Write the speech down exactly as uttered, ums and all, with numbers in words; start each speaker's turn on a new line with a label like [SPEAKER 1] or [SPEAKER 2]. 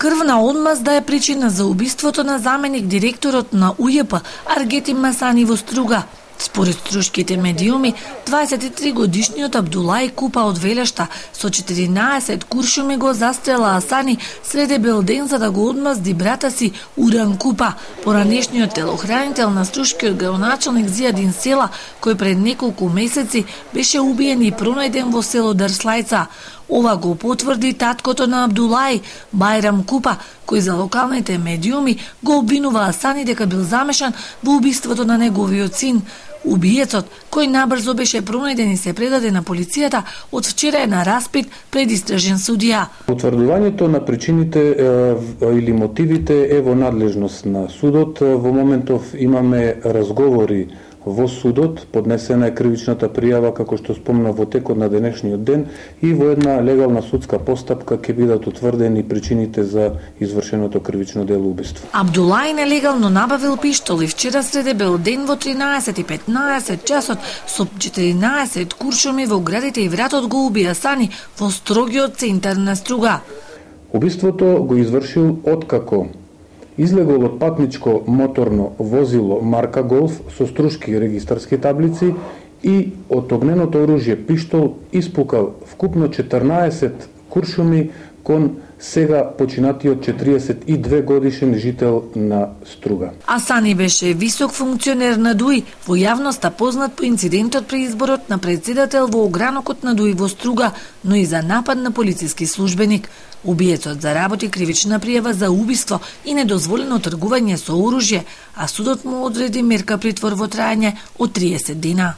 [SPEAKER 1] Крвна одмазда е причина за убиството на заменик директорот на У Ј П Аргетин Масани во Струга. Според струшките медиуми, дваесет и три годишниот Абдулај Купа од Велешта со четиринаесет куршуми го застрела Асани среде бел ден за да го одмазди брата си Уран Купа, поранешниот телохранител на струшкиот градоначалник Зијадин Села, кој пред неколку месеци беше убиен и пронајден во село Дрслајца. Ова го потврди таткото на Абдулај, Бајрам Купа, кој за локалните медиуми го обвинува Асани дека бил замешан во убиството на неговиот син. Убиецот, кој набрзо беше пронајден и се предаде на полицијата, од вчера е на распит пред истражен судија.
[SPEAKER 2] Утврдувањето на причините е, или мотивите е во надлежност на судот. Во моментов имаме разговори во судот, поднесена е кривичната пријава, како што спомна, во текот на денешниот ден и во една легална судска постапка ќе бидат утврдени причините за извршеното кривично дело убиство.
[SPEAKER 1] Абдулај нелегално набавил пиштол и вчера среде бел ден во тринаесет и петнаесет часот со четиринаесет куршуми во градите и вратот го уби Асани во строгиот центар на Струга.
[SPEAKER 2] Убиството го извршил откако излегол од патничко моторно возило марка Голф со струшки регистарски таблици и од огненото оружје пиштол испукал вкупно четрнаесет куршуми кон сега починатиот четириесет и две годишен жител на Струга.
[SPEAKER 1] Асани беше висок функционер на ДУИ, во јавноста познат по инцидентот при изборот на председател во огранокот на ДУИ во Струга, но и за напад на полициски службеник. Убиецот заработи кривична пријава за убиство и недозволено тргување со оружје, а судот му одреди мерка притвор во трајање од триесет дена.